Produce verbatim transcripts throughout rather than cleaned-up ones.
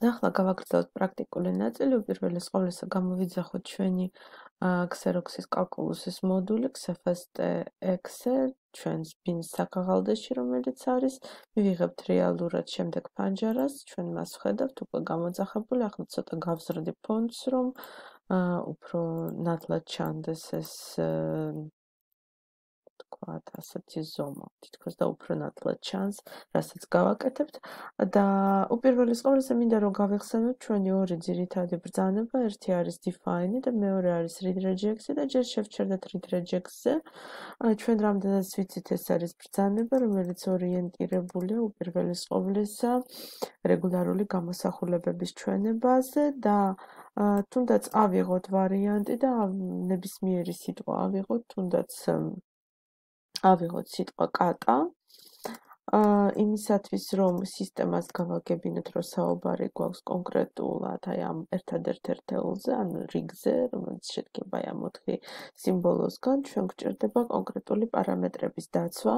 ახლა გავაგრძელოთ პრაქტიკული ნაწილი. უპირველეს ყოვლისა გამოვიძახოთ ჩვენი ქსეროქსის კალკულუსის მოდული xfst-exe ჩვენს ბინს საქაღალდეში, რომელიც არის. მივიღებთ რეალურად შემდეგ ფანჯარას, ჩვენ მას ვხედავთ უკვე გამოძახებული. ახლა ცოტა გავზრდი ფონტს, რომ უფრო ნათლად ჩანდეს ეს თქვათ ასეთი ზომა, თითქოს და უფრო ნათლად ჩანს, რასაც გავაკეთებთ და უპირველეს ყოვლისა მინდა რომ გავიხსენოთ ჩვენი ორი ძირითადი ბრძანება, ერთი არის define და მეორე არის read regex-ი და ჯერ შევჩერდეთ read regex-ზე. ჩვენ რამდენად ვიცით, ეს არის ბრძანება, რომელიც ორიენტირებულია უპირველეს ყოვლისა რეგულარული გამოსახულებების ჩვენებაზე და თუნდაც ავიღოთ ვარიანტი და ნებისმიერი სიტყვა ავიღოთ, თუნდაც ავიღოთ სიტყვა კატა, იმისათვის რომ სისტემას გავაგებინოთ, რომ საუბარი გვაქვს კონკრეტულად აი ამ ერთადერთ ერთეულზე, ანუ რიგზე, რომელიც შედგება აი ამ ოთხი სიმბოლოსგან, ჩვენ გვჭირდება კონკრეტული პარამეტრების დაცვა,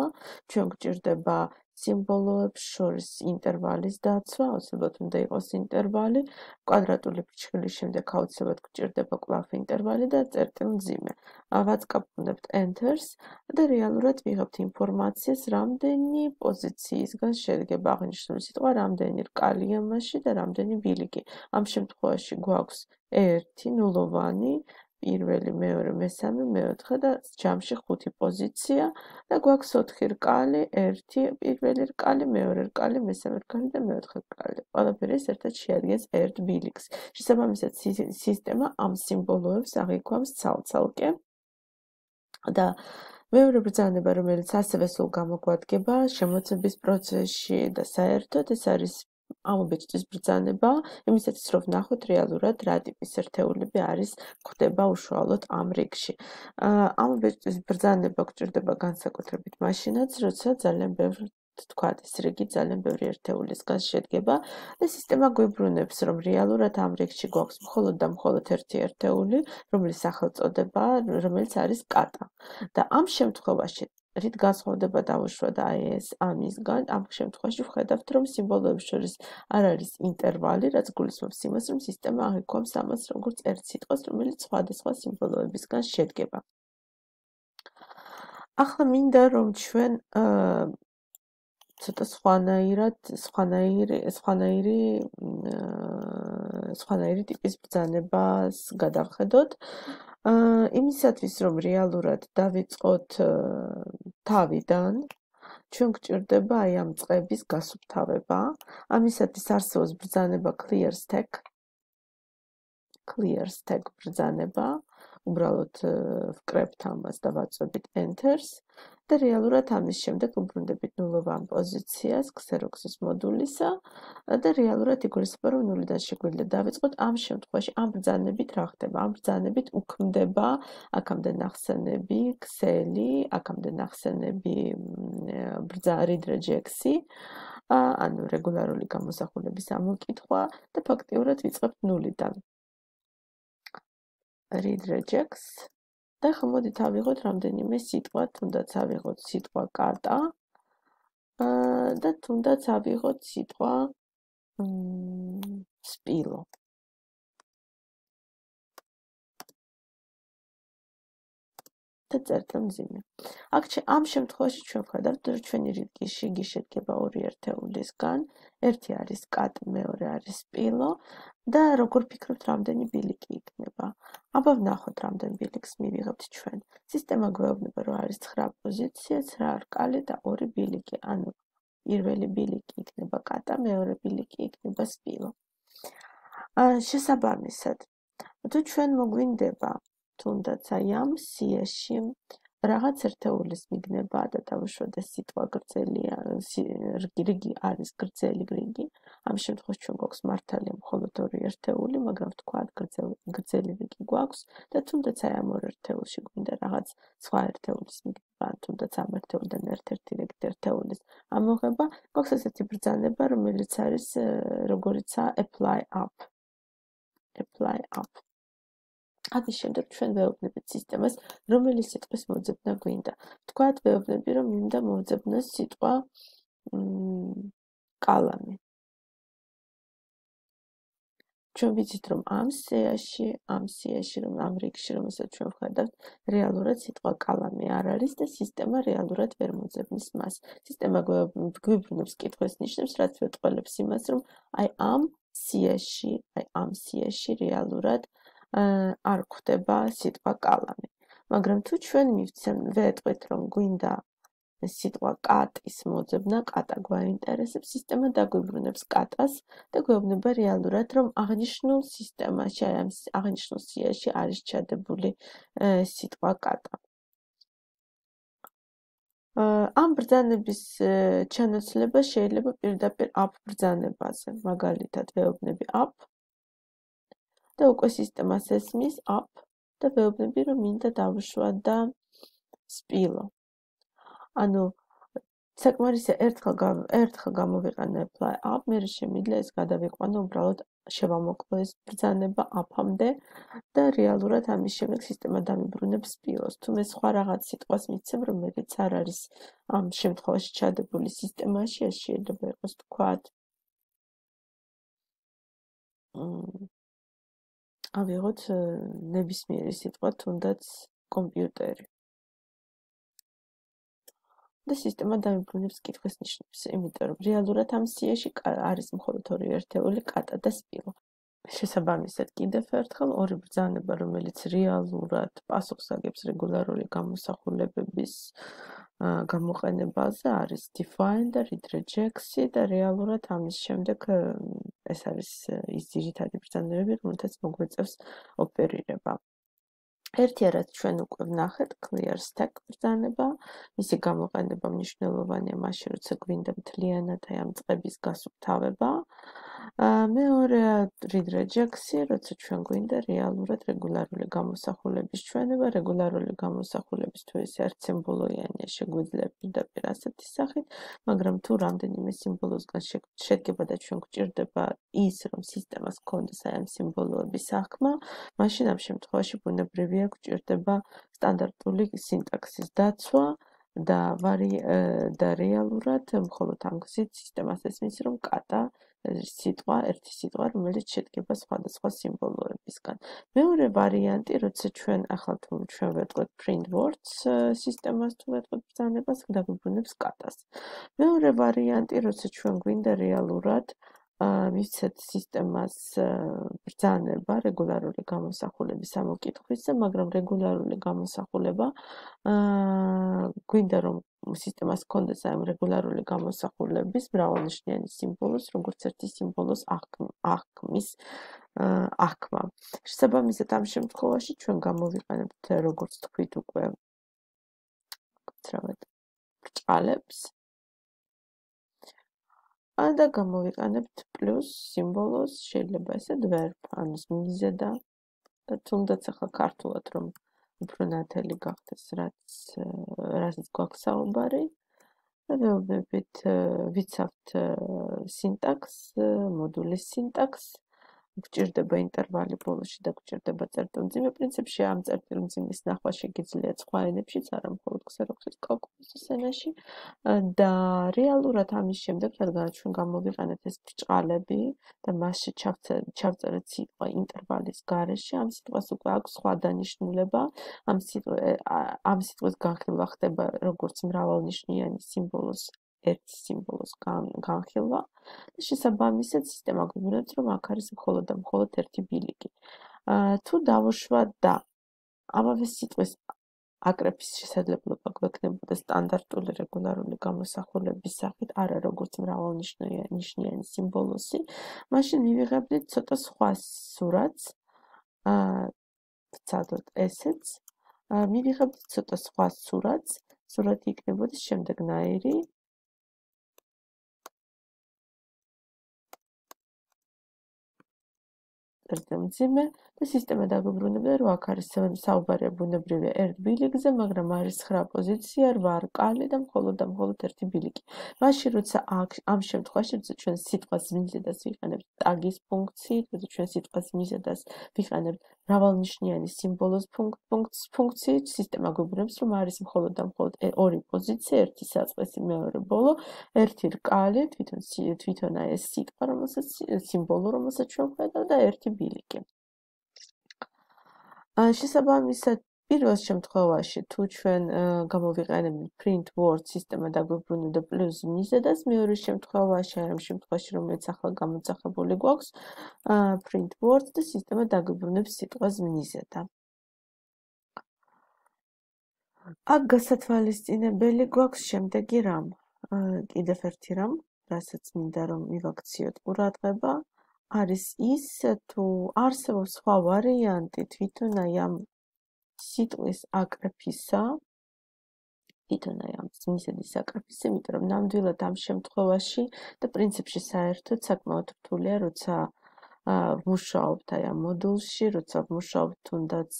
ჩვენ გვჭირდება სიმბოლოებს შორის ინტერვალის დაცვა, აუცილებლად უნდა იყოს ინტერვალი, კვადრატული ფრჩხილის შემდეგ აუცილებლად გვჭირდება კვლავ ინტერვალი და წერტილმძიმე. ვაწყაბუნებთ enters და რეალურად ვიღებთ ინფორმაციას, რამდენი პოზიციისგან შედგება აღნიშნული სიტყვა, რამდენი რკალია მასში და რამდენი ბილიკი. ამ შემთხვევაში გვაქვს ერთი ნულოვანი, პირველი, მეორე, მესამე, მეოთხე და ჯამში ხუთი პოზიცია და გვაქვს ოთხი რკალი, ერთი პირველი რკალი, მეორე რკალი, მესამე რკალი და მეოთხე რკალი. ყველაფერი ეს ერთად შეადგენს ერთ ბილიკს. შესაბამისად, სისტემა ამ სიმბოლოებს აღიქვამს ცალ-ცალკე და მეორე ბრძანება, რომელიც ასევე სულ გამოგვადგება შემოცების პროცესში და საერთოდ ეს არის ამობეჭდის ბრძანება, იმისათვის რომ ვნახოთ რეალურად რა ტიპის ერთეულები არის გვხვდება უშუალოდ ამ რიგში. ამობეჭდის ბრძანება გვჭირდება განსაკუთრებით მაშინაც, როცა ძალიან ბევრი თქვათ, ეს რიგი ძალიან ბევრი ერთეულისგან შედგება და სისტემა გვიბრუნებს, რომ რეალურად ამ რიგში გვაქვს მხოლოდ და მხოლოდ ერთი ერთეული, რომლის სახელწოდებაა, რომელიც არის კატა. და ამ შემთხვევაში რით განსხვავდება დაუშვათ აი ეს ამისგან, ამ შემთხვევაში ვხედავთ, რომ სიმბოლოებს შორის არ არის ინტერვალი, რაც გულისხმობს იმას, რომ სისტემა აღიქვამს ამას როგორც ერთ სიტყვას, რომელიც სხვადასხვა სიმბოლოებისგან შედგება. ახლა მინდა რომ ჩვენ ცოტა სხვანაირად, სხვანაირი, სხვანაირი, სხვანაირი ტიპის ბრძანებას გადავხედოთ. იმისათვის, რომ რეალურად დავიწყოთ თავიდან, ჩვენ გვჭირდება აი ამ წყების გასუფთავება. ამისათვის არსებობს ბრძანება clear stack. clear stack ბრძანება. უბრალოდ ვკრებთ ამას და ვაწვევით enters და რეალურად ამის შემდეგ ვუბრუნდებით ნულოვან პოზიციას xerox-ის მოდულისა და რეალურად იგულისხმება, რომ ნულიდან შეგვიძლია დავიწყოთ. ამ შემთხვევაში ამ ბრძანებით რა ხდება? ამ ბრძანებით უქმდება აქამდე ნახსენები ქსელი, აქამდე ნახსენები read regex-ი, ანუ რეგულარული გამოსახულების ამოკითხვა და ფაქტიურად ვიწყებთ ნულიდან. read regex და ახლა მოდით ავიღოთ რამდენიმე სიტყვა, თუნდაც ავიღოთ სიტყვა კატა და თუნდაც ავიღოთ სიტყვა სპილო. და წერტილმძიმე. აქ ამ შემთხვევაში ჩვენ ვხედავთ, რომ ჩვენი რიგი შედგება ორი ერთეულისგან, ერთი არის კატა, მეორე არის სპილო და როგორ ფიქრობთ, რამდენი ბილიკი იქნება? აბა ვნახოთ, რამდენ ბილიკს მივიღებთ ჩვენ. სისტემა გვეუბნება, რომ არის ცხრა პოზიცია, ცხრა რკალი და ორი ბილიკი. ანუ პირველი ბილიკი იქნება კატა, მეორე ბილიკი იქნება სპილო. შესაბამისად, თუ ჩვენ მოგვინდება თუნდაც აი ამ სიაში რაღაც ერთეულის მიგნება და დავუშვათ ეს სიტყვა გრძელია, რიგი არის გრძელი რიგი. ამ შემთხვევაში ჩვენ გვაქვს მართალია მხოლოდ ორი ერთეული, მაგრამ ვთქვათ გრძელი რიგი გვაქვს და თუნდაც აი ამ ორ ერთეულში გვინდა რაღაც სხვა ერთეულის მიგნება, თუნდაც ამ ერთეულიდან ერთ-ერთი რიგით ერთეულის ამოღება, გვაქვს ესეთი ბრძანება, რომელიც არის როგორიცაა apply up. apply up. ამის შემდეგ ჩვენ ვეუბნებით სისტემას, რომელი სიტყვის მოძებნა გვინდა. ვთქვათ, ვეუბნები, რომ მინდა მოვძებნოს სიტყვა კალამი. ჩვენ ვიცით, რომ ამ სიაში, ამ სიაში, რომ ამ რიგში, რომელსაც ჩვენ ვხედავთ, რეალურად სიტყვა კალამი არ არის და სისტემა რეალურად ვერ მოძებნის მას. სისტემა გვიბრუნებს კითხვის ნიშნებს, რაც მეტყველებს იმას, რომ აი ამ სიაში, აი ამ სიაში რეალურად არ გვხვდება სიტყვა კალამი. მაგრამ თუ ჩვენ მივცემ, ვეტყვით, რომ გვინდა სიტყვა კატის მოძებნა, კატა გვაინტერესებს, სისტემა დაგვიბრუნებს კატას და გვეუბნება რეალურად, რომ აღნიშნულ სისტემაში, აი ამ აღნიშნულ სიაში არის ჩადებული სიტყვა კატა. ამ ბრძანების ჩანაცვლება შეიძლება პირდაპირ app ბრძანებაზე, მაგალითად ვეუბნები app და უკვე სისტემას ესმის app და ვეუბნები, რომ მინდა დავუშვა და სპილო. ანუ საკმარისია ერთხელ ერთხელ გამოვიყენებ app, მე შემიძლია ეს გადავიყვანო უბრალოდ შევამოკლო ეს ბრძანება app-ამდე და რეალურად ამის შემდეგ სისტემა დამიბრუნებს სპილოს. თუ მე სხვა რაღაც სიტყვას მიცემ, რომელიც არ არის ამ შემთხვევაში ჩადებული სისტემაში, ეს შეიძლება იყოს თქვათ ავიღოთ ნებისმიერი სიტყვა, თუნდაც კომპიუტერი. და სისტემა დამიბრუნებს კითხვის ნიშნებს, იმიტომ რომ რეალურად ამ სიაში არის მხოლოდ ორი ერთეული კატა და სპილო. შესაბამისად, კიდევ ერთხელ ორი ბრძანება, რომელიც რეალურად პასუხს აგებს რეგულარული გამოსახულებების გამოყენებაზე, არის define და read regex-ი და რეალურად ამის შემდეგ ეს არის ის ძირითადი ბრძანებები, რომელთაც მოგვეწევს ოპერირება. ერთი რაც ჩვენ უკვე ვნახეთ, clear stack ბრძანება, მისი გამოყენება მნიშვნელოვანია მაშინ, როცა გვინდა მთლიანად აი ამ წყების გასუფთავება. მეორე read regex-ი, როცა ჩვენ გვინდა რეალურად რეგულარული გამოსახულების ჩვენება, რეგულარული გამოსახულების თუ ეს ერთ სიმბოლოიანია, შეგვიძლია პირდაპირ ასეთი სახით, მაგრამ თუ რამდენიმე სიმბოლოსგან შედგება და ჩვენ გვჭირდება ის, რომ სისტემას გქონდეს აი ამ სიმბოლოების აღქმა, მაშინ ამ შემთხვევაში ბუნებრივია გვჭირდება სტანდარტული სინტაქსის დაცვა და და რეალურად მხოლოდ ამ გზით სისტემას ესმის, რომ კატა სიტყვა, ერთი სიტყვა, რომელიც შედგება სხვადასხვა სიმბოლოებისგან. მეორე ვარიანტი, როცა ჩვენ ახლა თუ ჩვენ ვეტყვით print words სისტემას თუ ვეტყვით ბრძანებას, დაგვიბრუნებს კატას. მეორე ვარიანტი, როცა ჩვენ გვინდა რეალურად მისცეთ სისტემას ბრძანება რეგულარული გამოსახულების ამოკითხვისა, მაგრამ რეგულარული გამოსახულება გვინდა რომ სისტემას გქონდეს ამ რეგულარული გამოსახულების მრავალნიშნიანი სიმბოლოს, როგორც ერთი სიმბოლოს აღქმის აღქმა. შესაბამისად ამ შემთხვევაში ჩვენ გამოვიყენებთ როგორც თქვით უკვე ვთქვათ ბრჭყალებს და გამოვიყენებთ პლუს სიმბოლოს, შეიძლება ესეთ verb, ანუ მიზედა და თუნდაც ახლა ქართულად რომ უფრო ნათელი გახდეს, რაც რასაც გვაქვს საუბარი და ვეუბნებით ვიცავთ სინტაქს, მოდულის სინტაქს, გვჭირდება ინტერვალი ბოლოში და გვჭირდება წერტილმძიმე. პრინციპში ამ წერტილმძიმის ნახვა შეგიძლიათ სხვა ენებშიც, არა მხოლოდ ქსეროქსის კალკულუსის ენაში და რეალურად ამის შემდეგ, რადგან ჩვენ გამოვიყენეთ ეს ბრჭყალები და მასში ჩავწერეთ სიტყვა ინტერვალის გარეშე, ამ სიტყვას უკვე აქვს სხვა დანიშნულება, ამ ამ სიტყვის განხილვა ხდება როგორც მრავალნიშნიანი სიმბოლოს ერთი სიმბოლოს განხილვა და შესაბამისად სისტემა გვიბრუნებს, რომ აქ არის მხოლოდ და მხოლოდ ერთი ბილიკი. თუ დავუშვა და ამავე სიტყვის აკრეფის შესაძლებლობა გვექნებოდა სტანდარტული რეგულარული გამოსახულების სახით, არა როგორც მრავალნიშნიანი სიმბოლოსი, მაშინ მივიღებდით ცოტა სხვა სურათს, ვცადოთ ესეც, მივიღებდით ცოტა სხვა სურათს, სურათი იქნებოდა შემდეგნაირი. წერტილმძიმე და სისტემა დაგვიბრუნებდა, რომ აქ არის საუბარია ბუნებრივია ერთ ბილიკზე, მაგრამ არის ცხრა პოზიცია, რვა რკალი და მხოლოდ და მხოლოდ ერთი ბილიკი. მაშინ როცა ამ შემთხვევაში, როცა ჩვენ სიტყვას მიზედას ვიყენებთ ტაგის ფუნქციით, როცა ჩვენ სიტყვას მიზედას ვიყენებთ მრავალნიშნიანი სიმბოლოს ფუნქციით სისტემა გვიბრუნებს, რომ არის მხოლოდ და მხოლოდ ორი პოზიცია, ერთი საწყისი, მეორე ბოლო, ერთი რკალი, თვითონ თვითონ აი ეს სიტყვა, რომელსაც სიმბოლო, რომელსაც ჩვენ ვხედავ და ერთი ბილიკი. შესაბამისად, პირველ შემთხვევაში, თუ ჩვენ გამოვიყენებთ print word სისტემა დაგვიბრუნებდა პლუს მიზედას, მეორე შემთხვევაში, აი ამ შემთხვევაში, რომელიც ახლა გამოძახებული გვაქვს, print word და სისტემა დაგვიბრუნებს სიტყვას მიზედა. აქ გასათვალისწინებელი გვაქვს შემდეგი რამ. კიდევ ერთი რამ, რასაც მინდა რომ მივაქციოთ ყურადღება, არის ის, თუ არსებობს სხვა ვარიანტი თვითონ აი ამ სიტყვის აკრეფისა, თვითონ აი ამ მიზედის აკრეფისა, იმიტომ რომ ნამდვილად ამ შემთხვევაში და პრინციპში საერთოდ საკმაოდ რთულია, როცა ვმუშაობთ აი ამ მოდულში, როცა ვმუშაობთ თუნდაც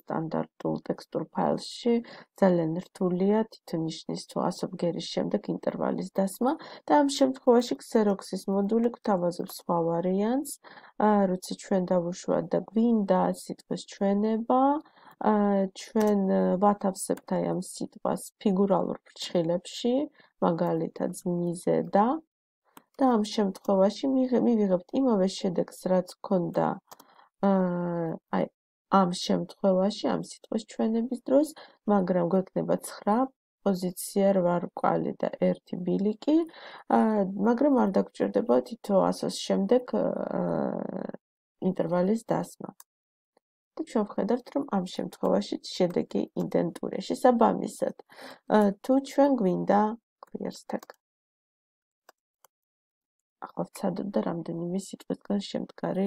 სტანდარტულ ტექსტურ ფაილში, ძალიან რთულია თვითონ ნიშნის თუ ასო ბგერის შემდეგ ინტერვალის დასმა და ამ შემთხვევაში Xerox-ის მოდული გვთავაზობს სხვა ვარიანტს, როცა ჩვენ დავუშვათ და გვინდა სიტყვის ჩვენება, ჩვენ ვათავსებთ აი ამ სიტყვას ფიგურალურ ფრჩხილებში, მაგალითად მიზედა და ამ შემთხვევაში მივიღებთ იმავე შედეგს, რაც გვქონდა აი ამ შემთხვევაში, ამ სიტყვის ჩვენების დროს, მაგრამ გვექნება ცხრა პოზიცია, რვა რკვალი და ერთი ბილიკი, მაგრამ არ დაგჭირდება თითო ასოს შემდეგ ინტერვალის დასმა. და ჩვენ ვხედავთ, რომ ამ შემთხვევაში შედეგი იდენტურია. შესაბამისად, თუ ჩვენ გვინდა clear stack ახლა ვცადოთ და რამდენიმე სიტყვისგან შემდგარი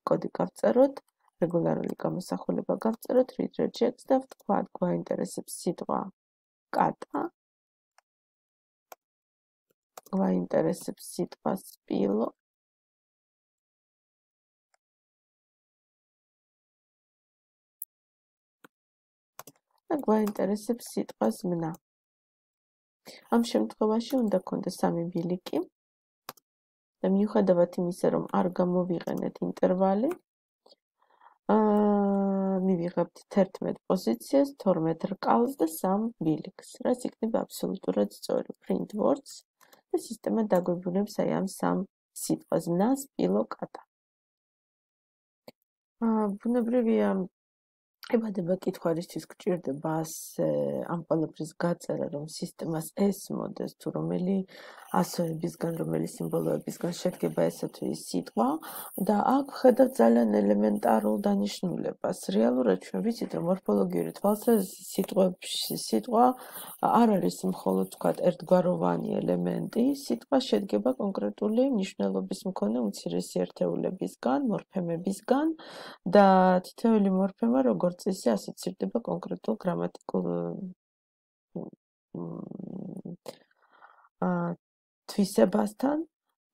კოდი გავწეროთ, რეგულარული გამოსახულება გავწეროთ, read regex და ვთქვათ, გვაინტერესებს სიტყვა კატა, გვაინტერესებს სიტყვა სპილო, და გვაინტერესებს სიტყვა ზმნა. ამ შემთხვევაში უნდა გქონდეს სამი ბილიკი და მიუხედავად იმისა, რომ არ გამოვიყენეთ ინტერვალი, მივიღებთ თერთმეტ პოზიციას, თორმეტ რკალს და სამ ბილიკს, რაც იქნება აბსოლუტურად სწორი. print words და სისტემა დაგვიბრუნებს აი ამ სამ სიტყვას ზმნა, სპილო, კატა. ბუნებრივია ებადება კითხვა რისთვის გჭირდება ასე ამ ყველაფრის გაწერა, რომ სისტემას ესმოდეს, თუ რომელი ასოებისგან, რომელი სიმბოლოებისგან შედგება ესა თუ ის სიტყვა და აქ ვხედავთ ძალიან ელემენტარულ დანიშნულებას. რეალურად ჩვენ ვიცით, რომ მორფოლოგიური თვალსაზრისით სიტყვებში სიტყვა არ არის მხოლოდ თქვათ ერთგვაროვანი ელემენტი, სიტყვა შედგება კონკრეტული მნიშვნელობის მქონე უმცირესი ერთეულებისგან, მორფემებისგან და თითოეული მორფემა როგორც წესი ასოცირდება კონკრეტულ გრამატიკულ თვისებასთან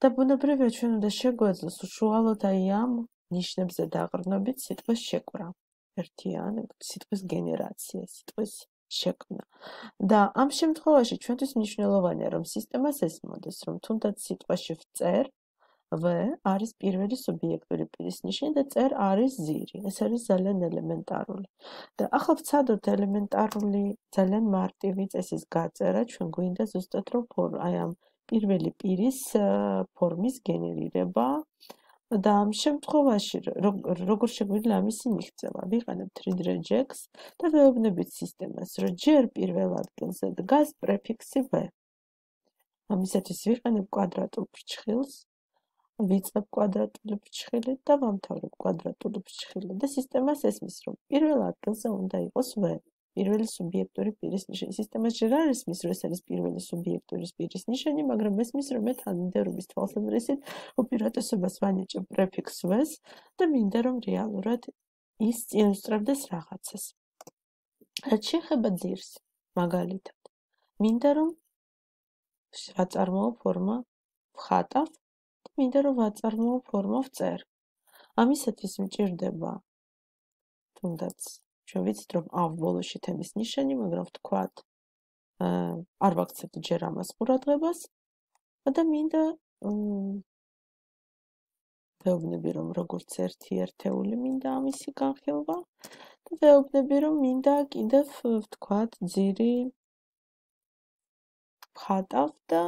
და ბუნებრივია ჩვენ უნდა შეგვეძლოს უშუალოდ აი ამ ნიშნებზე დაყრდნობით სიტყვის შეკვრა. ერთიან სიტყვის გენერაცია, სიტყვის შექმნა. და ამ შემთხვევაში ჩვენთვის მნიშვნელოვანია, რომ სისტემას ესმოდეს, რომ თუნდაც სიტყვაში ვწერ V არის პირველი სუბიექტური პირის ნიშანი და წერ არის ზირი. ეს არის ძალიან ელემენტარული. და ახლა ვცადოთ ელემენტარული, ძალიან მარტივი წესის გაწერა, ჩვენ გვინდა ზუსტად რომ აი ამ პირველი პირის ფორმის გენერირება და ამ შემთხვევაში როგორ შეგვიძლია ამისი მიღწევა? ვიყენებთ read regex და ვეუბნებით სისტემას, რომ ჯერ პირველ ადგილზე დგას პრეფიქსი V. ამისათვის ვიყენებ კვადრატულ ფრჩხილს ვიწყებ კვადრატული ფრჩხილით და ვამთავრებ კვადრატული ფრჩხილით და სისტემას ესმის, რომ პირველ ადგილზე უნდა იყოს V, პირველი სუბიექტური პირის ნიშანი. სისტემას ჯერ არ ესმის, რომ ეს არის პირველი სუბიექტური პირის ნიშანი, მაგრამ ესმის, რომ მე თანმიმდევრობის თვალსაზრისით უპირატესობას ვანიჭებ პრეფიქს V-ს და მინდა, რომ რეალურად ის წინ უსწრებდეს რაღაცას. რაც შეეხება ძირს, მაგალითად, მინდა, რომ ვაწარმოო ფორმა ვხატავ მინდა რომ ვაწარმოო ფორმა ვწერ. ამისათვის მჭირდება თუნდაც ჩვენ ვიცით რომ ავ ბოლოში თემის ნიშანი, მაგრამ ვთქვათ არ ვაქცევთ ჯერ ამას ყურადღებას და მინდა ვეუბნები, რომ როგორც ერთი ერთეული მინდა ამისი განხილვა და ვეუბნები, რომ მინდა კიდევ ვთქვათ, ძირი ვხატავ და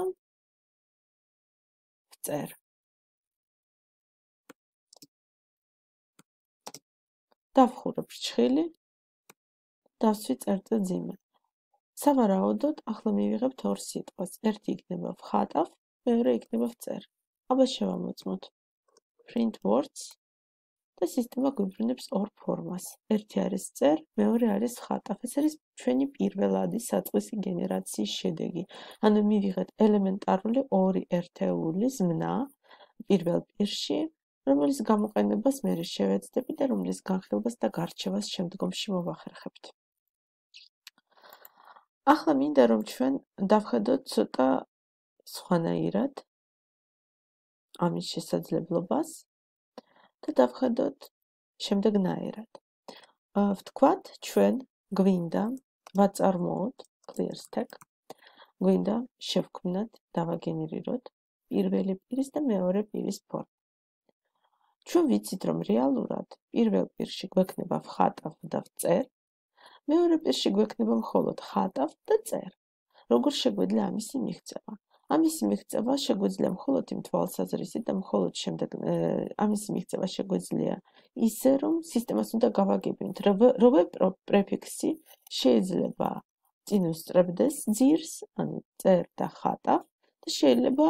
ვწერ. დავხურე ფრჩხილი, დავსვი წერტილ ძიმე. სავარაუდოდ, ახლა მივიღებთ ორ სიტყვას. ერთი იქნება ვხატავ, მეორე იქნება ვწერ. აბა შევამოწმოთ. print words და სისტემა გვიბრუნებს ორ ფორმას. ერთი არის წერ, მეორე არის ვხატავ. ეს არის ჩვენი პირველადი საწყისი გენერაციის შედეგი. ანუ მივიღეთ ელემენტარული ორი ერთეული ზმნა პირველ პირში, რომელიც გამოყენებას მე შევეცდები და რომლის განხილვას და გარჩევას შემდგომში მოვახერხებთ. ახლა მინდა რომ ჩვენ დავხედოთ ცოტა სხვანაირად ამის შესაძლებლობას და დავხედოთ შემდეგნაირად. ვთქვათ, ჩვენ გვინდა ვაწარმოოთ clear stack, გვინდა შევქმნათ, დავაგენერიროთ პირველი პირის და მეორე პირის ფორმა. ჩვენ ვიცით, რომ რეალურად პირველ პირში გვექნება ვხატავ და ვწერ, მეორე პირში გვექნება მხოლოდ ხატავ და წერ. როგორ შეგვიძლია ამისი მიღწევა? ამისი მიღწევა შეგვიძლია მხოლოდ იმ თვალსაზრისით და მხოლოდ შემდეგ ამისი მიღწევა შეგვიძლია ისე, რომ სისტემას უნდა გავაგებინოთ, როვე პრეფიქსი შეიძლება წინ უსწრებდეს ძირს, ანუ წერ და ხატავ და შეიძლება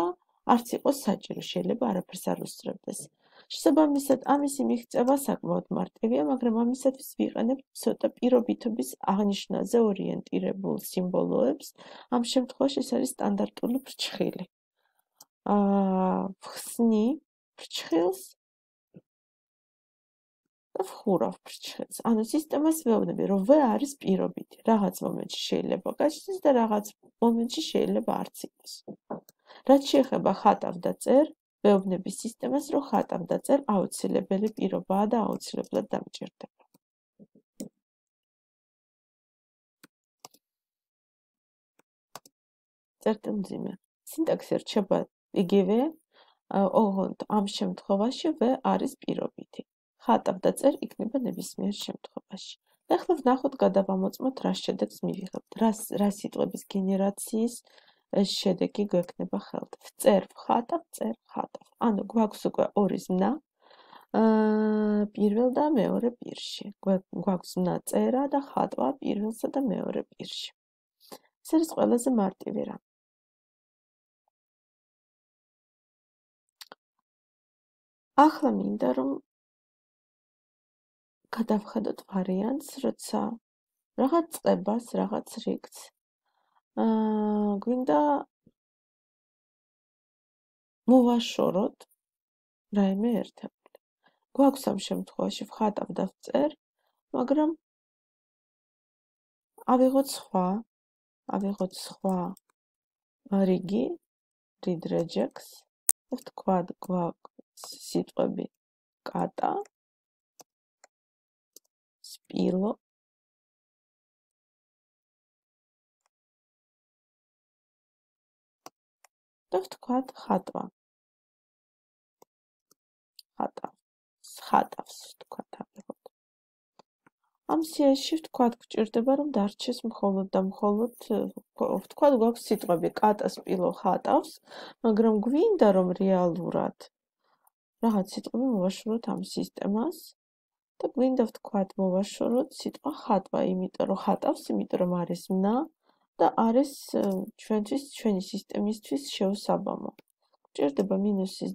არც იყოს საჭირო, შეიძლება არაფერს არ უსწრებდეს. შესაბამისად, ამისი მიღწევა საკმაოდ მარტივია, მაგრამ ამისათვის ვიყენებთ ცოტა პირობითობის აღნიშვნაზე ორიენტირებულ სიმბოლოებს. ამ შემთხვევაში ეს არის სტანდარტული ფრჩხილი. აა ვხსნი ფრჩხილს და ვხურავ ფრჩხილს. ანუ სისტემას ვეუბნები, რომ ვე არის პირობითი. რაღაც მომენტში შეიძლება გაჩნდეს და რაღაც მომენტში შეიძლება არც იყოს. რაც შეეხება ხატავ და წერ, ვეუბნები სისტემას, რომ ხატავ და წერ აუცილებელი პირობაა და აუცილებლად დამჭირდება. წერტილ მძიმე. სინტაქსი რჩება იგივე, ოღონდ ამ შემთხვევაში ვე არის პირობითი. ხატავ და წერ იქნება ნებისმიერ შემთხვევაში. და ახლა ვნახოთ, გადავამოწმოთ, რა შედეგს მივიღებთ, რა სიტყვების გენერაციის შედეგი გვექნება ხელთ. წერ ვხატავ, წერ ხატავ. ანუ გვაქვს უკვე ორი ზმნა პირველ და მეორე პირში. გვაქვს ზმნა წერა და ხატვა პირველსა და მეორე პირში. ეს არის ყველაზე მარტივი რამ. ახლა მინდა რომ გადავხედოთ ვარიანტს, როცა რაღაც წებას, რაღაც რიგს აა გვინდა მოვაშოროთ რაიმე ერთეული. გვაქვს ამ შემთხვევაში ვხატავ და ვწერ, მაგრამ ავიღოთ სხვა, ავიღოთ სხვა რიგი, read regex, ვთქვათ, გვაქვს სიტყვები კატა, სპილო და ვთქვათ ხატვა. ხატავს, ხატავს, ვთქვათ ავიღოთ. ამ სიაში ვთქვათ, გვჭირდება რომ დარჩეს მხოლოდ და მხოლოდ, ვთქვათ, გვაქვს სიტყვები კატა, სპილო, ხატავს, მაგრამ გვინდა რომ რეალურად რაღაც სიტყვები მოვაშოროთ ამ სისტემას და გვინდა ვთქვათ მოვაშოროთ სიტყვა ხატვა, იმიტომ რომ ხატავს, იმიტომ რომ არის მნა და არის ჩვენთვის, ჩვენი სისტემისთვის შეუსაბამო. გვჭირდება მინუსის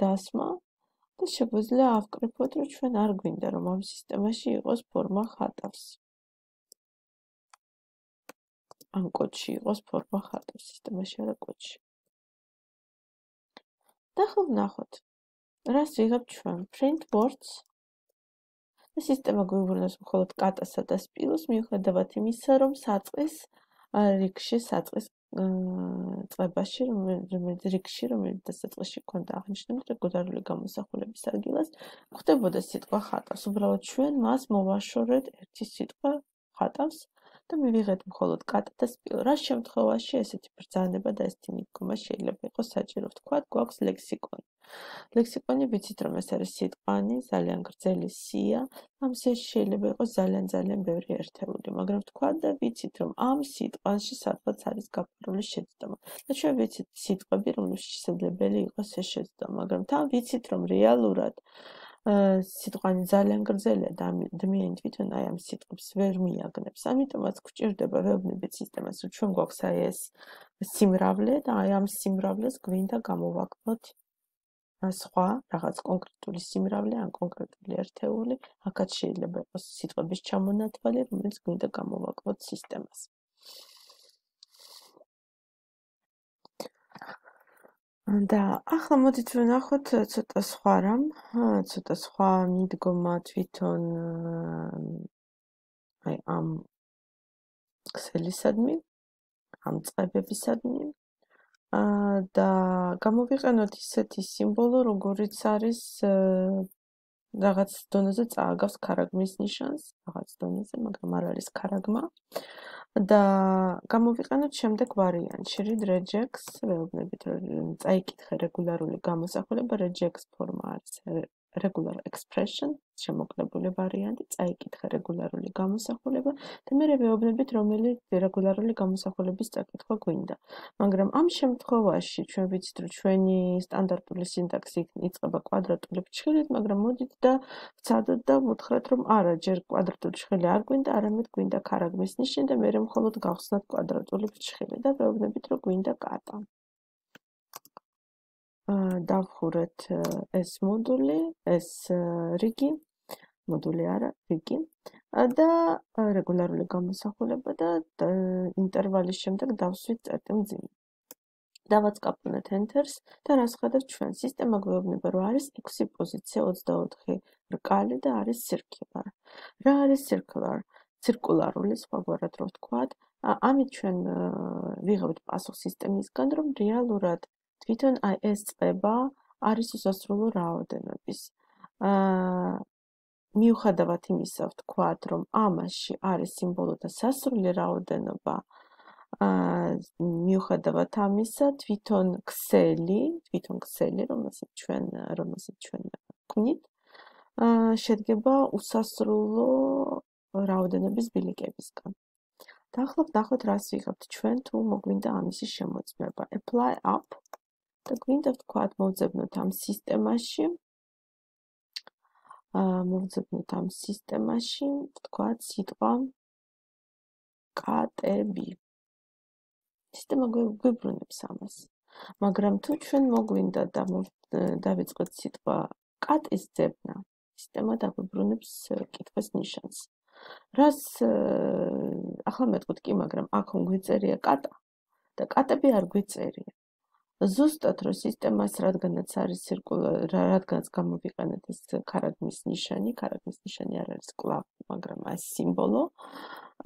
დასმა და შეგვიძლია ავკრიფოთ, რომ ჩვენ არ გვინდა რომ ამ სისტემაში იყოს ფორმა ხატავს. ამ კოდში იყოს ფორმა ხატავს სისტემაში, არა კოდში. და ახლა ვნახოთ. რას ვიღებთ ჩვენ? print words და სისტემა გვიუბრუნებს მხოლოდ კატასა და სპილოს, მიუხედავად იმისა, რომ საწყის რიგში, საწყის წლებაში, რომელიც რიგში, რომელიც დასაწყისში ქონდა აღნიშნული რეგულარული გამოსახულების ადგილას, გვხდებოდა სიტყვა ხატავს. უბრალოდ ჩვენ მას მოვაშორეთ ერთი სიტყვა ხატავს და მივიღეთ მხოლოდ კატა და სპილო. რა შემთხვევაში ესეთი ბრძანება და ესეთი მიდგომა შეიძლება იყოს საჭირო? ვთქვათ, გვაქვს ლექსიკონი. ლექსიკონი ვიცით რომ ეს არის სიტყვანი, ძალიან გრძელი სია, ამ სიაში შეიძლება იყოს ძალიან ძალიან ბევრი ერთეული, მაგრამ თქვა და ვიცით რომ ამ სიტყვაში სადღაც არის გაფორმებული შეცდომა. და ჩვენ ვიცით სიტყვები, რომელშიც შესაძლებელი იყოს ეს შეცდომა, მაგრამ თან ვიცით რომ რეალურად სიტყვანი ძალიან გრძელია და ადამიანი თვითონ აი ამ სიტყვებს ვერ მიაგნებს. ამიტომაც გვჭირდება ვეუბნებით სისტემას, რომ ჩვენ გვაქვს აი ეს სიმრავლე და აი ამ სიმრავლეს გვინდა გამოვაკლოთ სხვა რაღაც კონკრეტული სიმრავლე ან კონკრეტული ერთეული, აქაც შეიძლება იყოს სიტყვების ჩამონათვალი, რომელიც გვინდა გამოვაკლოთ სისტემას. და ახლა მოდით ვნახოთ ცოტა სხვა რამ, ცოტა სხვა მიდგომა თვითონ აი ამ ქსელისადმი, ამ წებებისადმი და გამოვიყენოთ ისეთი სიმბოლო, როგორიც არის რაღაც დონეზე წააგავს ქარაგმის ნიშანს, რაღაც დონეზე, მაგრამ არ არის ქარაგმა. და გამოვიყენოთ შემდეგ ვარიანტში, read regex, ვეუბნებით რომ წაიკითხე რეგულარული გამოსახულება, regex ფორმა არის regular expression, შემოკლებული ვარიანტი, წაიკითხე რეგულარული გამოსახულება და მე ვეუბნებით რომელი რეგულარული გამოსახულების წაკითხვა გვინდა. მაგრამ ამ შემთხვევაში ჩვენ ვიცით რომ ჩვენი სტანდარტული სინტაქსი იწყება კვადრატული ფრჩხილით, მაგრამ მოდით და ვცადოთ და ვუთხრათ რომ არა, ჯერ კვადრატული ფრჩხილი არ გვინდა, არამედ გვინდა ქარაგმის ნიშანი და მე მხოლოდ გავხსნათ კვადრატული ფრჩხილი და ვეუბნებით რომ გვინდა კატა. დავხურეთ ეს მოდული, ეს რიგი, მოდული არა, რიგი და რეგულარული გამოსახულება და ინტერვალის შემდეგ დავსვით წერტილმძიმე. დავაწყაპუნეთ enter-ს და რას ხედავთ ჩვენ? სისტემა გვეუბნება რომ არის ექვსი პოზიცია ოცდაოთხი რკალი და არის circular. რა არის circular? ცირკულარული, სხვაგვარად რო ვთქვათ. ამით ჩვენ ვიღებთ პასუხს სისტემისგან, რომ რეალურად თვითონ აი ეს წება არის უსასრულო რაოდენობის. აა მიუხედავად იმისა, ვთქვათ, რომ ამაში არის სიმბოლოთა სასრული რაოდენობა, აა მიუხედავად ამისა, თვითონ ქსელი, თვითონ ქსელი, რომელსაც ჩვენ, რომელსაც ჩვენ ვქმნით, აა შედგება უსასრულო რაოდენობის ბილიკებისგან. და ახლა ვნახოთ, რას ვიღებთ ჩვენ, თუ მოგვინდა ამისი შემოწმება. Apply up და გვინდა ვთქვათ, მოვძებნოთ ამ სისტემაში. აა მოვძებნოთ ამ სისტემაში, ვთქვათ, სიტყვა კატები. სისტემა გვიბრუნებს ამას. მაგრამ თუ ჩვენ მოგვინდა და დავიწყოთ სიტყვა კატის ძებნა, სისტემა დაგვიბრუნებს კითხვის ნიშანს. რას ახლა მეტყვით კი, მაგრამ აქ გვიწერია კატა და კატები არ გვიწერია. ზუსტად რომ სისტემას რადგანაც არის ცირკულარი, რადგანაც გამოვიყენეთ ეს ქარაგმის ნიშანი, ქარაგმის ნიშანი არ არის კვლავ, მაგრამ ეს სიმბოლო,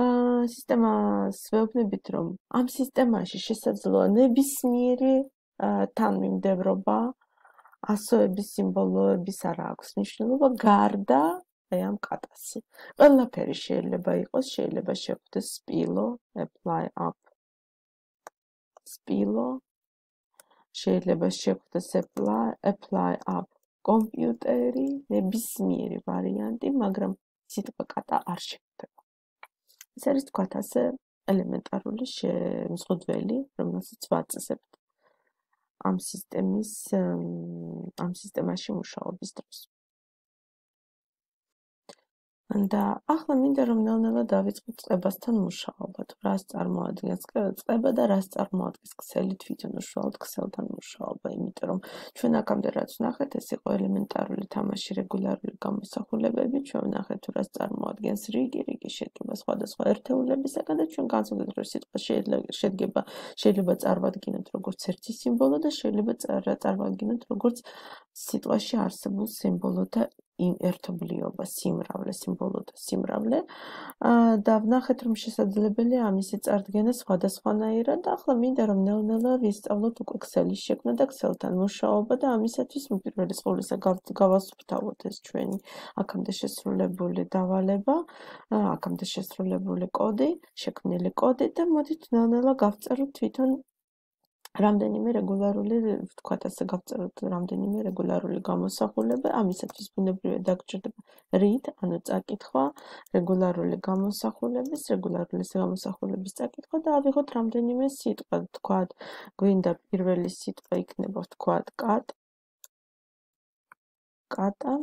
აა სისტემას ვეუბნებით რომ ამ სისტემაში შესაძლოა ნებისმიერი თანმიმდევრობა, ასოების სიმბოლოების არ აქვს მნიშვნელობა გარდა აი ამ კატასი. ყველაფერი შეიძლება იყოს, შეიძლება შეხვდეს სპილო, apply up სპილო, შეიძლება შეხვდეს apply, apply up კომპიუტერი, ნებისმიერი ვარიანტი, მაგრამ სიტყვა კატა არ შეხვდება. ეს არის თქვათ ასე ელემენტარული შემზღუდველი, რომელსაც ვაწესებთ ამ სისტემის ამ სისტემაში მუშაობის დროს. და ახლა მინდა რომ ნელ-ნელა დავიწყოთ წყებასთან მუშაობა, თუ რას წარმოადგენს წყება და რას წარმოადგენს ქსელი თვითონ უშუალოდ ქსელთან მუშაობა, იმიტომ რომ ჩვენ აქამდე რაც ვნახეთ, ეს იყო ელემენტარული თამაში რეგულარული გამოსახულებები, ჩვენ ვნახეთ თუ რას წარმოადგენს რიგი, რიგი შედგება სხვადასხვა ერთეულებისაგან და ჩვენ განსაზღვრეთ რომ სიტყვა შედგება შეიძლება წარმოვადგინოთ როგორც ერთი სიმბოლო და შეიძლება წარმოვადგინოთ როგორც სიტყვაში არსებულ სიმბოლოთა ერთობლიობა, სიმრავლე, სიმბოლოთა სიმრავლე. და ვნახეთ რომ შესაძლებელია ამისი წარდგენა სხვადასხვანაირად და ახლა მინდა რომ ნელ-ნელა ვისწავლოთ უკვე ქსელის შექმნა და ქსელთან მუშაობა და ამისათვის უპირველეს ყოვლისა გავასუფთავოთ ეს ჩვენი აქამდე შესრულებული დავალება, აქამდე შესრულებული კოდი, შექმნილი კოდი და მოდით ნელ-ნელა გავწეროთ თვითონ რამდენიმე რეგულარული, ვთქვათ ასე გავწეროთ, რამდენიმე რეგულარული გამოსახულება, ამისათვის ბუნებრივად დაგჭირდება read, ანუ წაკითხვა, რეგულარული გამოსახულების, რეგულარული გამოსახულების წაკითხვა და ავიღოთ რამდენიმე სიტყვა, ვთქვათ, გვინდა პირველი სიტყვა იქნება, ვთქვათ, cat, კატა.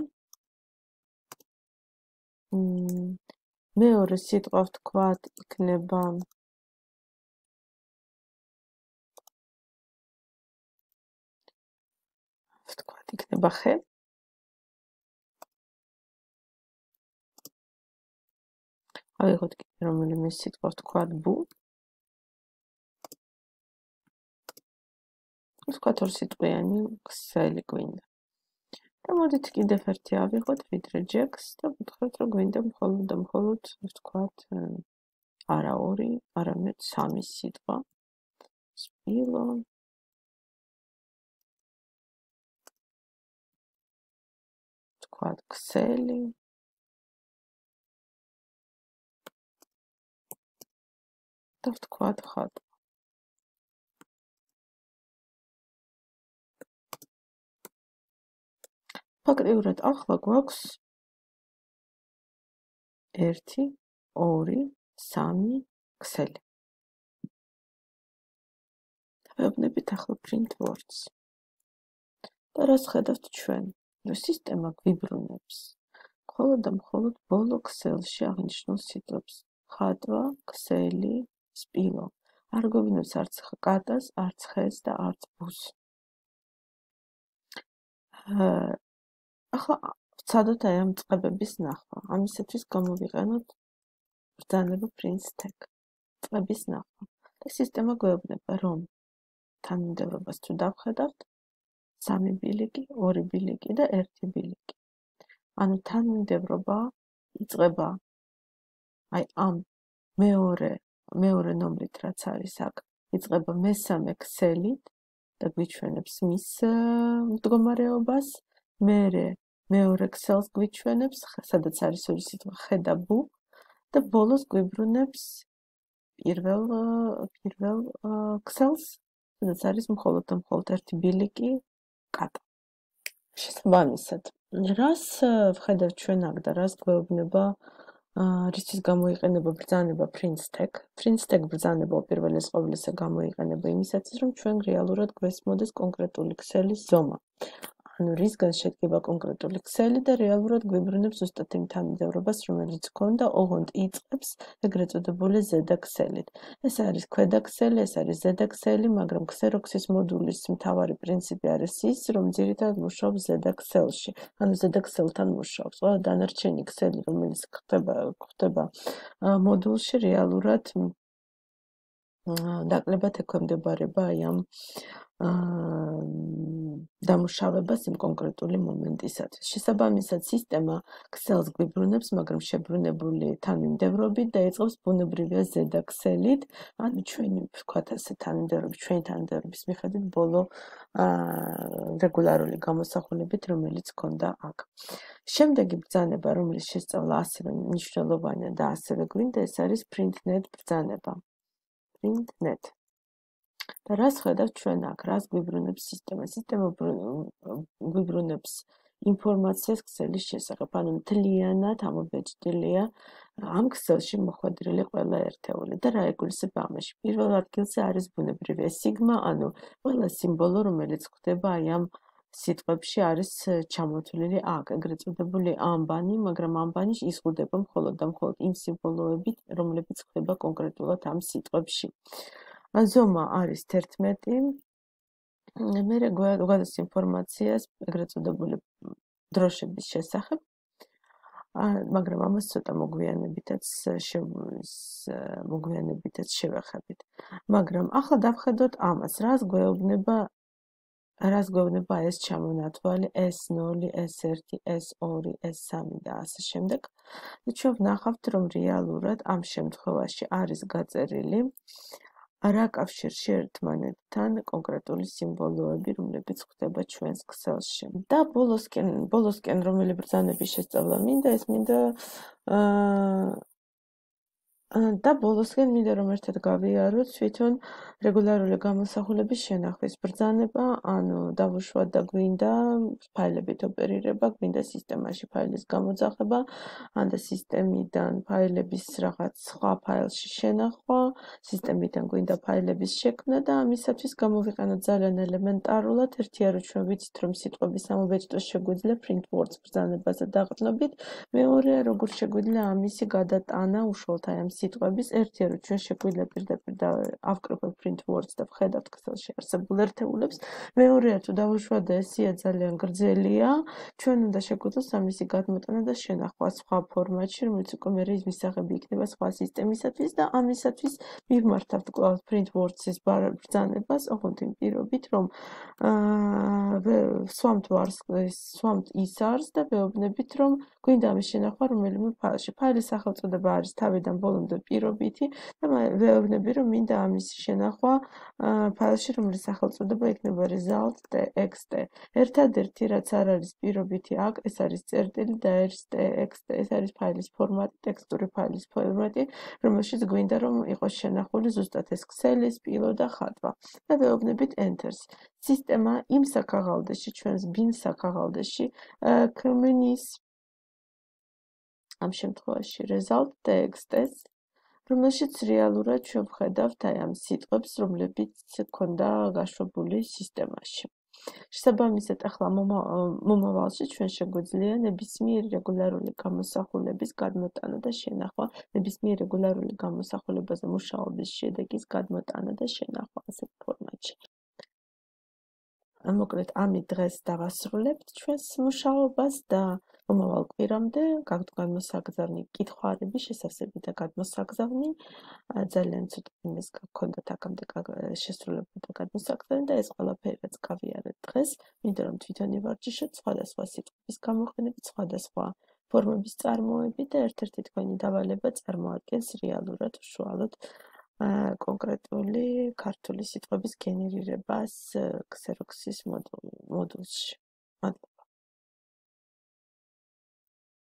მეორე სიტყვა, ვთქვათ, იქნება ვთქვათ, იქნება ხე. ავიღოთ კიდე რომელიმე სიტყვა, ვთქვათ, ბუ. ვთქვათ, ორ სიტყვიანი ქსელი გვინდა. და მოდით კიდევ ერთი ავიღოთ, ვიდრე ჯექს და ვთქვათ, რომ გვინდა მხოლოდ და მხოლოდ, ვთქვათ, არა ორი, არამედ სამი სიტყვა. სპილო. ვთქვათ, ქსელი. და ვთქვათ, ხატვა. ფაქტიურად ახლა გვაქვს ერთი, ორი, სამი ქსელი. დავეუბნებით ახლა print words. და რას ხედავთ ჩვენ? რომ სისტემა გვიბრუნებს მხოლოდ და მხოლოდ ბოლო ქსელში აღნიშნულ სიტყვებს. ხატვა, ქსელი, სპილო. არ გვიბრუნებს არც კატას, არც ხეს და არც ბუს. ახლა ვცადოთ აი ამ წყებების ნახვა. ამისათვის გამოვიყენოთ ბრძანება print tag. წყების ნახვა. და სისტემა გვეუბნება, რომ თანმიმდევრობას თუ დავხედავთ, სამი ბილიკი, ორი ბილიკი და ერთი ბილიკი. ანუ თანმიმდევრობა იწყება აი ამ მეორე მეორე ნომრით რაც არის აქ, იწყება მესამე ქსელით და გვიჩვენებს მის მდგომარეობას, მერე მეორე ქსელს გვიჩვენებს, სადაც არის ორი სიტყვა ხე და ბუ და ბოლოს გვიბრუნებს პირველ პირველ ქსელს, სადაც არის მხოლოდ და მხოლოდ ერთი ბილიკი კატა. შესაბამისად, რას ვხედავთ ჩვენ აქ და რას გვეუბნება რისთვის გამოიყენება ბრძანება print tag? print tag ბრძანება უპირველეს ყოვლისა გამოიყენება იმისათვის, რომ ჩვენ რეალურად გვესმოდეს კონკრეტული ქსელის ზომა. ანუ რისგან შედგება კონკრეტული ქსელი და რეალურად გვიბრუნებს ზუსტად იმ თანმიმდევრობას, რომელიც ჰქონდა ოღონდ იწყებს ეგრეთ წოდებული ზედა ქსელით. ეს არის ქვედა ქსელი, ეს არის ზედა ქსელი, მაგრამ ქსეროქსის მოდულის მთავარი პრინციპი არის ის, რომ ძირითადად მუშაობს ზედა ქსელში, ანუ ზედა ქსელთან მუშაობს. ყველა დანარჩენი ქსელი, რომელიც ხდება ხდება მოდულში, რეალურად დაკლებად ექვემდებარება აი ამ დამუშავებას იმ კონკრეტული მომენტისათვის. შესაბამისად, სისტემა ქსელს გვიბრუნებს, მაგრამ შებრუნებული თანმიმდევრობით და იწყებს ბუნებრივია ზედა ქსელით, ანუ ჩვენი ვთქვათ ასე თანმიმდევრობის, ჩვენი თანმიმდევრობის მიხედვით ბოლო რეგულარული გამოსახულებით, რომელიც ჰქონდა აქ. შემდეგი ბრძანება, რომელიც შესწავლა ასევე მნიშვნელოვანია და ასევე გვინდა, ეს არის printnet ბრძანება. printnet. და რას ხედავთ ჩვენ აქ, რას გვიბრუნებს სისტემა? სისტემა გვიბრუნებს ინფორმაციას ქსელის შესახებ, ანუ მთლიანად ამობეჭდილია ამ ქსელში მოხვედრილი ყველა ერთეული და რა ეგულისება ამაში. პირველ ადგილზე არის ბუნებრივია სიგმა, ანუ ყველა სიმბოლო, რომელიც ხდება აი ამ სიტყვებში არის ჩამოთვლილი აქ, ეგრეთ წოდებული ამბანი, მაგრამ ამბანი იზღუდება მხოლოდ და მხოლოდ იმ სიმბოლოებით, რომლებიც ხდება კონკრეტულად ამ სიტყვებში. ზომა არის თერთმეტი, მერე გვაქვს ინფორმაციას ეგრეთ წოდებული დროშების შესახებ, მაგრამ ამას ცოტა მოგვიანებითაც მოგვიანებითაც შევეხებით. მაგრამ ახლა დავხედოთ ამას, რას გვეუბნება რას გვეუბნება ეს ჩამონათვალი ეს ნული, ეს ერთი, ეს ორი, ეს სამი და ასე შემდეგ. და ჩვენ ვნახავთ, რომ რეალურად ამ შემთხვევაში არის გაწერილი რა კავშირში ერთმანეთთან კონკრეტული სიმბოლოები, რომლებიც ხდება ჩვენს ქსელში. და ბოლოსკენ, ბოლოსკენ რომელი ბრძანების შესწავლა მინდა, ეს მინდა და ბოლოსკენ მინდა რომ ერთად გავიაროთ თვითონ რეგულარული გამოსახულების შენახვის ბრძანება, ანუ დავუშვათ და გვინდა ფაილებით ოპერირება, გვინდა სისტემაში ფაილის გამოძახება, ან და სისტემიდან ფაილების რაღაც სხვა ფაილში შენახვა, სისტემიდან გვინდა ფაილების შექმნა და ამისათვის გამოვიყენოთ ძალიან ელემენტარულად ერთი არ ჩვენ ვიცით რომ სიტყვების ამობეჭდოს შეგვიძლია print words ბრძანებაზე დაყრდნობით, მეორეა როგორ შეგვიძლია ამისი გადატანა უშუალოდ აი ამ სიტყვების ერთია რომ ჩვენ შეგვიძლია პირდაპირ და ავკრიფოთ print words და ვხედავთ Excel-ში არსებულ ერთეულებს, მეორეა თუ დავუშვათ და ესია ძალიან გრძელია, ჩვენ უნდა შეგვიძლოს ამისი გადმოტანა და შენახვა სხვა ფორმატში, რომელიც უკვე მე ის მისაღები იქნება სხვა სისტემისათვის და ამისათვის მივმართავთ კვლავ print words-ის ბრძანებას, ოღონდ იმ პირობით, რომ აა სვამთ ვარს სვამთ ის არს და ვეუბნებით, რომ გვინდა ამის შენახვა რომელიმე ფაილში. ფაილის სახელწოდება არის თავიდან ბოლომდე პირობითი და ვეუბნები, რომ მინდა ამის შენახვა ფაილში, რომლის სახელწოდება იქნება result.txt. ერთადერთი რაც არ არის პირობითი აქ, ეს არის წერტილი და ეს txt, ეს არის ფაილის ფორმატი, ტექსტური ფაილის ფორმატი, რომელშიც გვინდა რომ იყოს შენახული ზუსტად ეს ქსელი, სპილო და ხატვა. და ვეუბნებით enter-ს. სისტემა იმ საქაღალდეში, ჩვენს bin საქაღალდეში ქმნის ამ შემთხვევაში result.txt-ს, რომელშიც რეალურად ჩვენ ვხედავთ აი ამ სიტყვებს, რომლებიც ქონდა გაშვებული სისტემაში. შესაბამისად, ახლა მომავალში ჩვენ შეგვიძლია ნებისმიერი რეგულარული გამოსახულების გადმოტანა და შენახვა, ნებისმიერი რეგულარული გამოსახულებაზე მუშაობის შედეგის გადმოტანა და შენახვა ასეთ ფორმატში. მოკლედ, ამით დღეს დავასრულებთ ჩვენს მუშაობას და მომავალ კვირამდე გადმოსაგზავნი კითხვარები, შესავსები და გადმოსაგზავნი ძალიან ცოტა იმის გქონდათ აქამდე შესრულებული და გადმოსაგზავნი და ეს ყველაფერი რაც გავიარეთ დღეს, მინდა რომ თვითონ ივარჯიშოთ სხვადასხვა სიტყვების გამოყენებით, სხვადასხვა ფორმების წარმოებით და ერთ-ერთი თქვენი დავალება წარმოადგენს რეალურად უშუალოდ კონკრეტული ქართული სიტყვების გენერირებას Xerox-ის მოდულში.